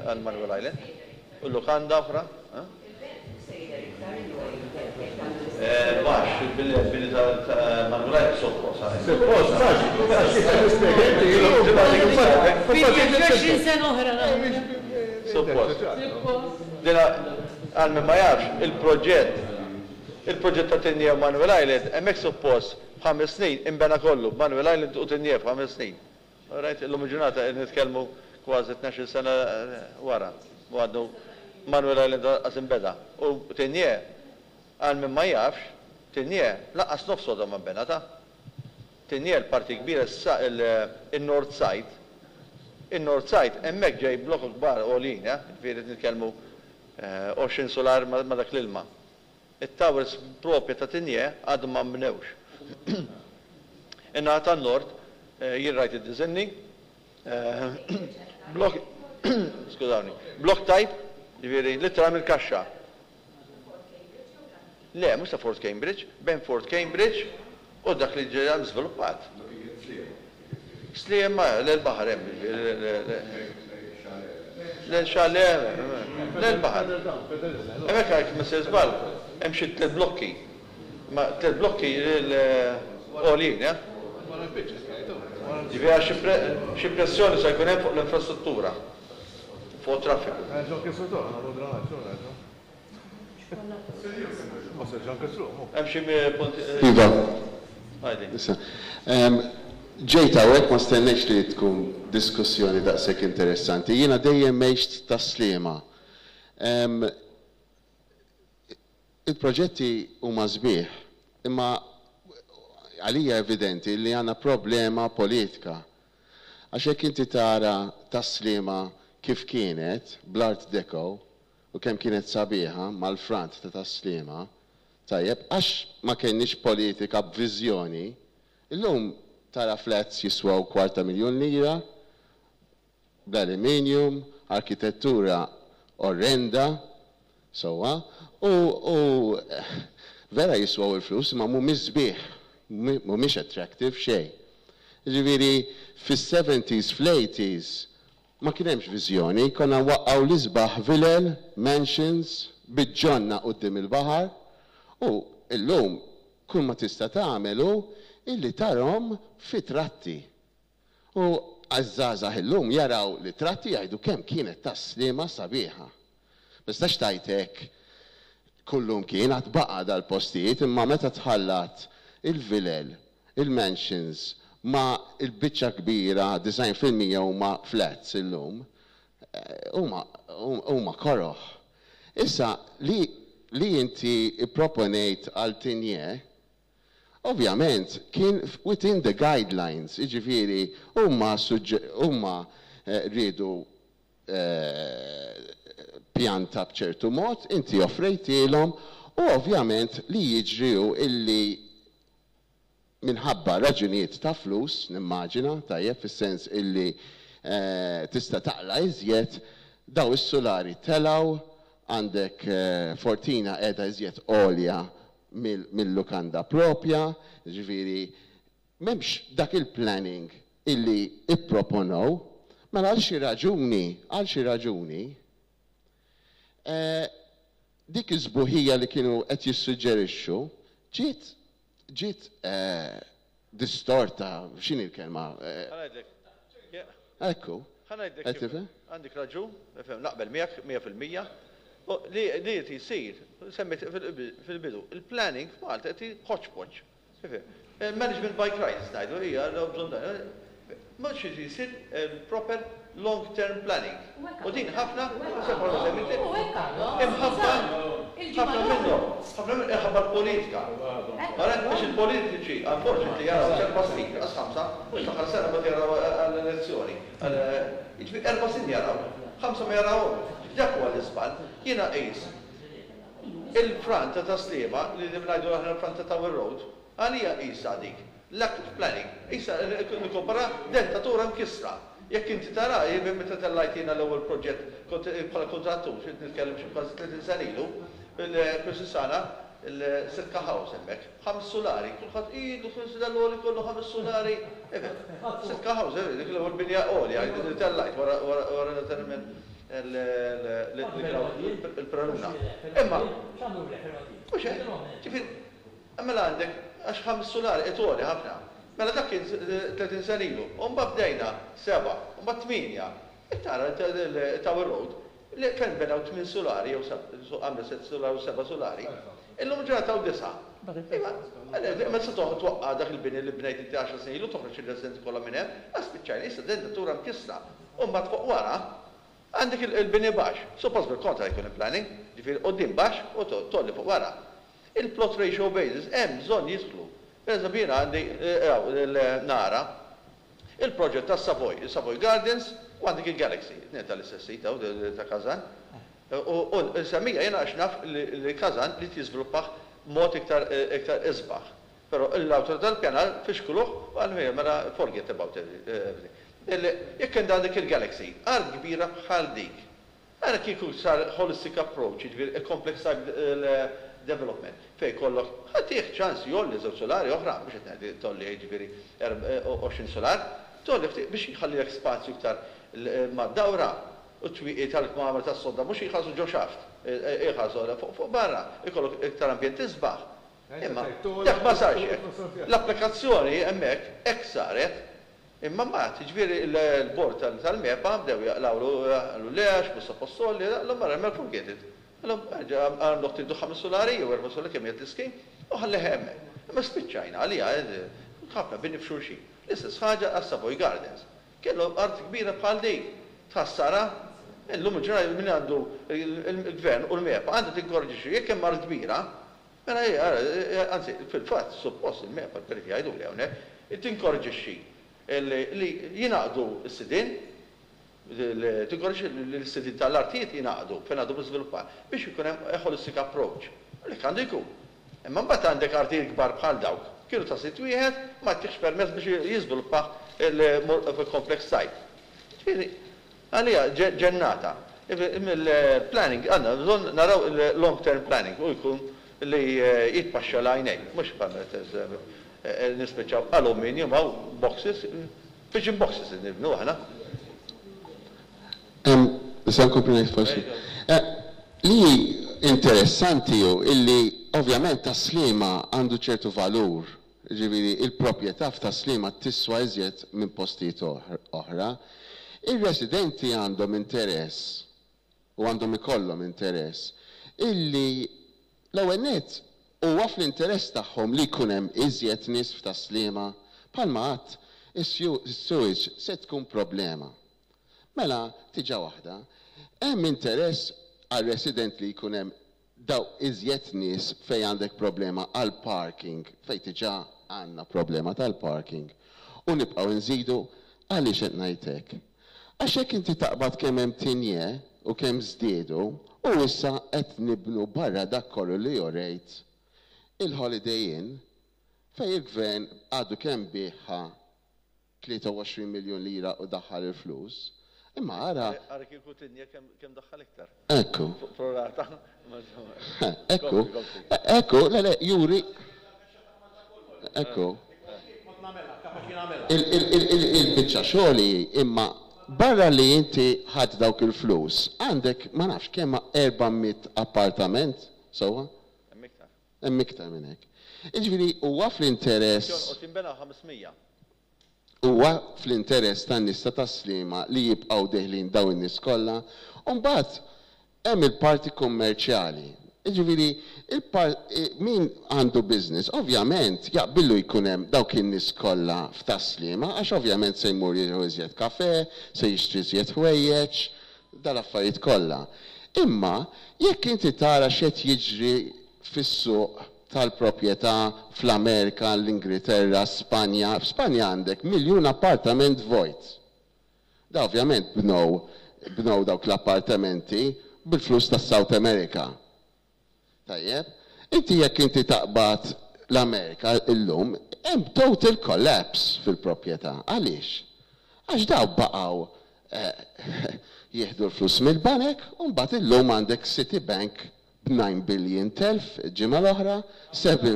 Għal Manuel Island. U l-lukanda oħra? Baxx, il-bini ta' Manuel Island suppost. Suppost, għax nispjega inti. Sena oħra. Suppost. Dina, għal min ma jafx, il-proġett, il-proġett ta' Tigné u Manuel Island, hemmhekk suppost f'5 snin inbena kollu, Manuel Island u Tigné f'5 snin. Right, illum il-ġurnata qed nitkellmu kważi 12 sena wara. U għadu Manuel Island lanqas inbeda. U Tigné, għal min ma jafx, Tigné lanqas nofs għodha ma nbena ta'. Tigné l-parti kbira il-North Side, il-North Side hemmhekk ġej blokok kbar għoljin, ġifieri nitkellmu 20 solar ma dak l-ilma. Il-towers propja ta' Tigné għadu ma nbnewx. In-naħa tan-nord jien rajt id-diżinni, blok, skużawni, block type, ġifieri literalment kaxxa. Le, mhux ta' Fort Cambridge, bejn Fort Cambridge u dak li ġej żviluppat. Sliema, l-baħar hemm, l-chalet, l-baħar. Hemmhekk għajt ma sejjer żball, hemm xi tliet blokki. Ma tliet blokki l-għoljin, eh? Ġifieri xi pressjoni se jkun hemm fuq l-infrastruttura, fuq it-traffiku. Hemm xi punti. Iva. Għajdi. Issa, ġejt hawnhekk, ma stennejtx li tkun diskussjoni daqshekk interessanti. Jiena dejjem għext Tas-Sliema. Il-proġetti huma sbieħ, imma għalija evidenti li għandna problema politika. Għax jekk inti tara Tas-Sliema kif kienet bl-Art Deco u kemm kienet sabiħa mal-front ta' Tas-Sliema, tajjeb, għax ma kenniex politika b'viżjoni, illum tara flats jiswaw 250,000 lira, bl-aluminium, arkitettura orrenda, sowa, u vera jiswaw il-flus, ma mhumiex sbieħ, mhumiex attractive xejn. Ġifieri, fis-70s, fl-80s, ma kien hemmx viżjoni, konna waqqgħu l-isbaħ vilel, mansions, b'ġonna quddiem il-baħar, u illum kull ma tista' tagħmel hu illi tarahom fi tratti. U għaż-żgħażagħ illum jaraw li tratti jgħidu kemm kienet Tas-Sliema sabiħa. Ma tistax tgħid hekk kullum kien għad baqa' dal-postijiet, imma meta tħallat il-vilel, il-mansions ma il-biċċa kbira, 90% huma flats illum, huma koroħ. Issa li inti proponejt għal Tigné, ovvjament kien within the guidelines, jiġifieri huma rridu pjanta b'ċertu mod, inti offrejtilhom u ovvjament li jiġri hu illi minħabba raġunijiet ta' flus, nimmaġina, tajjeb, fis-sens illi tista' taqla' iżjed, daw is-sulari telgħu, għandek Fortina qiegħda iżjed għolja mill-lukanda propja, ġifieri m'hemmx dak il-planning illi ipproponow, mela għal xi raġuni, dik iż-sbuħija li kienu qed jissuġġerixxu ġiet distorta, x'inhi l-kelma? Ħa ngħidlek. Ekku. Ħa ngħidlek. Qed tifhem? Għandek raġun, nifhem, naqbel miegħek 100%. U li qed jsir, semmejt fil-bidu, il-planning f'Malta qed hodgepodge. Tifhem? Management by crisis ngħidu hija l bżonn dan. Mhux jsir proper long term planning. U din ħafna, imħabba ħafna minnhom, ħafna minnhom imħabba l-politika. Għara, biex il-politiċi, unfortunately, jaraw 4 snin, għas 5, mhux l-aħħar sena ma jaraw għall-elezzjoni. Jiġifieri 4 snin jaraw, 5 ma jarawhom. Dak huwa l-iżball. Jiena qis il-front ta' Tas-Sliema, li ngħidu aħna l-front ta' Tower Road, għalija qisha dik. Lack of planning. Issa nikkompara dentatura mkissra. Jekk inti tara, meta tellajt jiena l-ewwel proġett kont bħala kontrattur, xi nitkellem xi kważi 30 sena ilu, il-Krisisana, il-Sitka House hemmhekk, ħames sulari, kulħadd ilu dal-għoli kollu ħames sulari. Sitka House, dik l-ewwel binja għolja, li tellajt wara naturalment. Il-Praluna. Imma. Mhux hekk? Ġifieri, mela għandek għax ħames sulari qed għoli ħafna. Mela dak kien 30 sena ilu. U mbagħad bdejna seba', u mbagħad tmienja. Jekk tara Tower Road, li fejn nbenew tmien sulari jew għamlu sett sulari u seba' sulari, illum il-ġurnata hawn disgħa. Iva, imma se twaqqa' dak il-bini li bnejt inti għaxar snin ilu, toħroġ ir-residenti kollha minn hemm, għax spiċċajna, issa d-dentatura mkissra. U mbagħad fuq wara għandek il-bini baxx. Suppost bil-kontra jkun il-planning, ġifieri quddiem baxx u tgħolli fuq wara. Il-plot ratio basis hemm bżonn jidħlu. Per eżempju jiena għandi nara il-proġett tas-Savoy, il-Savoy Gardens u għandek il-Galaxy, it-tnejn tal-istess sit hawn ta' Kazan. U nsemmija jiena għax naf li Kazan ried jiżviluppah b'mod iktar iktar isbaħ. Però l-awtorità tal-pjanar fixkluh u qalu ejja mela forget about everything. Jekk għandek il-Galaxy, art kbira bħal dik, ara kieku sar holistic approach, jiġifieri a complex type development, fejn jkollok, ħa tih ċans jgħolli żewġ sulari oħra, mhux qed ngħid tgħolli jiġifieri 20 sular, tgħolli ftit biex jħallilek spazju iktar mad-dawra u t-twieqi tal-kmamar tas-sodda mhux jħarsu ġo xaft, jħarsu fuq barra, ikollok iktar ambjent isbaħ. Imma dak ma sarx hekk. L-applikazzjoni hemmhekk hekk saret. Imma mbagħad, jiġifieri l-bord tal-MEPA bdew jaqlgħulu, qalu le għax mhux suppost tgħolli, qalhom mela mela forget it. Qalhom erġa' għandok tridu ħames sulari jew erba' sulari kemm jgħid l-ischeme u ħallih hemmhekk. Imma spiċċajna għaliha ħafna bini f'xulxin. L-istess ħaġa għas-Savoy Gardens. Kellu art kbira bħal dik. Tħassarha? Illum il-ġurnata min għandu l-gvern u l-MEPA għandha tinkoraġġixxi jekk hemm art kbira, mela hi ara, anzi fil-fatt suppost il-MEPA l-periti jgħiduli hawnhekk, tinkoraġġixxi li jingħaqdu s-sidien, tinkoraġġixxi li s-sidien tal-artijiet jingħaqdu fejn għadhom iżviluppar biex ikun hemm a holistic approach. U hekk għandu jkun. Imma mbagħad għandek artijiet kbar bħal dawk, kienu ta' sid wieħed, ma tihx permess biex jiżviluppah il-complex site. Ġifieri, għalija ġennata. Mill-planning għandna bżonn naraw il-long term planning u jkun li jitpaxxa l-għajnejn, mhux bħal nispiċċaw aluminium hawn boxes, pigeon boxes nibnu aħna. Nista' nkompli ngħid forsi? Li interessanti hu illi ovvjament Tas-Sliema għandu ċertu valur, jiġifieri il-proprjetà f'Tas-Sliema tiswa iżjed minn postijiet oħra. Ir-residenti għandhom interess u għandhom ikollhom interess illi l-ewwel nett huwa fl-interess tagħhom li jkun hemm iżjed nies f'Tas-Sliema. Bħalma għedt, is-sewage se tkun problema. Mela, tiġa waħda, hemm interess għar-resident li jkun hemm daw iżjed nies fejn għandek problema għall-parking, fejn diġà għandna problema tal-parking, u nibqgħu nżidu. Għaliex qed ngħid hekk? Għax jekk inti taqbad kemm hemm Tigné u kemm żdiedu, u issa qed nibnu barra dak kollu li urejt il-Holiday Inn fejn il-Gvern għadu kemm biegħha 23 miljun lira u daħħal il-flus. Imma ara. Ara kieku Tigné kemm daħħal iktar. Ekku. Pro rata. Ekku. Ekku, le le, juri. Ekku. Il-biċċa xogħol hi imma barra li inti ħadt dawk il-flus, għandek ma nafx kemm 400 appartament, sewwa? Hemm iktar. Hemm iktar minn hekk. Jiġifieri huwa fl-interess. Jonqos jinbena 500. Huwa fl-interess tan-nies ta' Tas-Sliema li jibqgħu deħlin dawn in-nies kollha? U mbagħad hemm il-parti kummerċjali. Jiġifieri min għandu business ovvjament jaqbillu jkun hemm dawk in-nies kollha f'Tas-Sliema għax ovvjament se jmur jieħu iżjed kafè, se jixtri iżjed ħwejjeġ, dal-affarijiet kollha. Imma jekk inti tara x'qed jiġri fis-suq tal-proprjetà fl-Amerika, l-Ingilterra, Spanja, f'Spanja għandek miljun appartament vojt. Da ovvjament bnew bnew dawk l-appartamenti bil-flus tas-South America. Tajjeb? Inti jekk inti taqbad l-Amerika illum, hemm total collapse fil-proprjetà. Għaliex? Għax daw baqgħu jieħdu l-flus mill-banek u mbagħad illum għandek Citibank b'9 billion telf il-ġimgħa l-oħra, 7.